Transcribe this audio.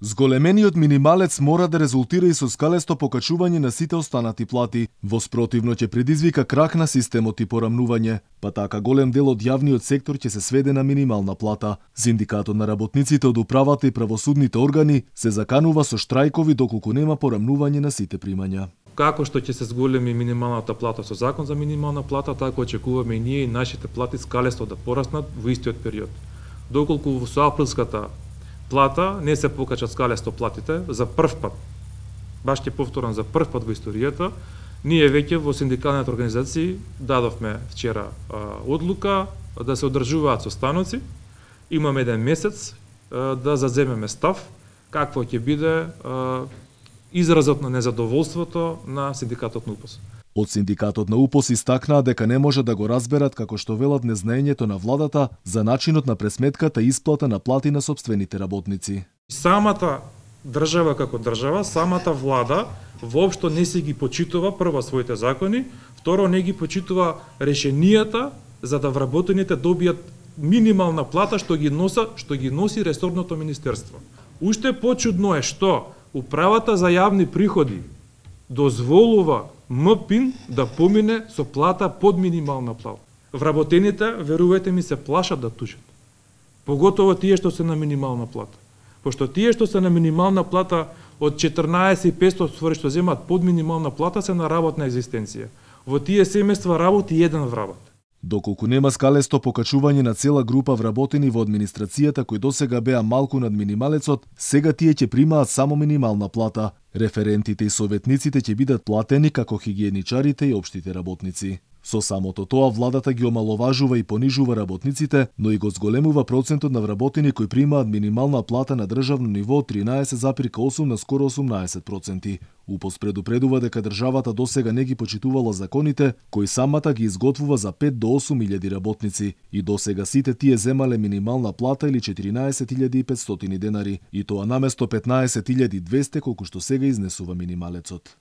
Зголемениот минималец мора да резултира и со скалесто покачување на сите останати плати. Во спротивно ќе предизвика крах на системот и порамнување, па така голем дел од јавниот сектор ќе се сведе на минимална плата. Синдикатот на работниците од управата и правосудните органи се заканува со штрајкови доколку нема порамнување на сите примања. Како што ќе се зголеми минималната плата со закон за минимална плата, така очекуваме и ние и нашите плати скалесто да пораснат во истиот период. Доколку со априлската плата не се покачат скалесто платите за прв пат, баш ќе повторам за прв пат во историјата, ние веќе во синдикалните организации дадовме вчера одлука да се одржуваат состаноци. Имаме еден месец да заземеме став какво ќе биде изразот на незадоволството на синдикатот на УПОС. Од синдикатот на УПОС истакнаа дека не може да го разберат како што велат незнаењето на владата за начинот на пресметката и исплата на плати на сопствените работници. Самата држава како држава, самата влада воопшто не се ги почитува прво своите закони, второ не ги почитува решенијата за да вработените добијат минимална плата што ги носи ресорното министерство. Уште почудно е што Управата за јавни приходи дозволува МПИН да помине со плата под минимална плата. Вработените, верувајте ми, се плашат да тужат. Поготово тие што се на минимална плата. Пошто тие што се на минимална плата од 14.500 што земат под минимална плата се на работна екзистенција. Во тие семејства работи еден вработ. Доколку нема скалесто покачување на цела група вработени во администрацијата кои досега беа малку над минималецот, сега тие ќе примаат само минимална плата. Референтите и советниците ќе бидат платени како хигиеничарите и општите работници. Со самото тоа владата ги омаловажува и понижува работниците, но и го зголемува процентот на вработени кои примаат минимална плата на државно ниво од 13,8 на скоро 18%. УПОС предупредува дека државата досега не ги почитувала законите кои самата ги изготвува за 5 до 8.000 работници и досега сите тие земале минимална плата или 14.500 денари и тоа наместо 15.200 колку што сега изнесува минималецот.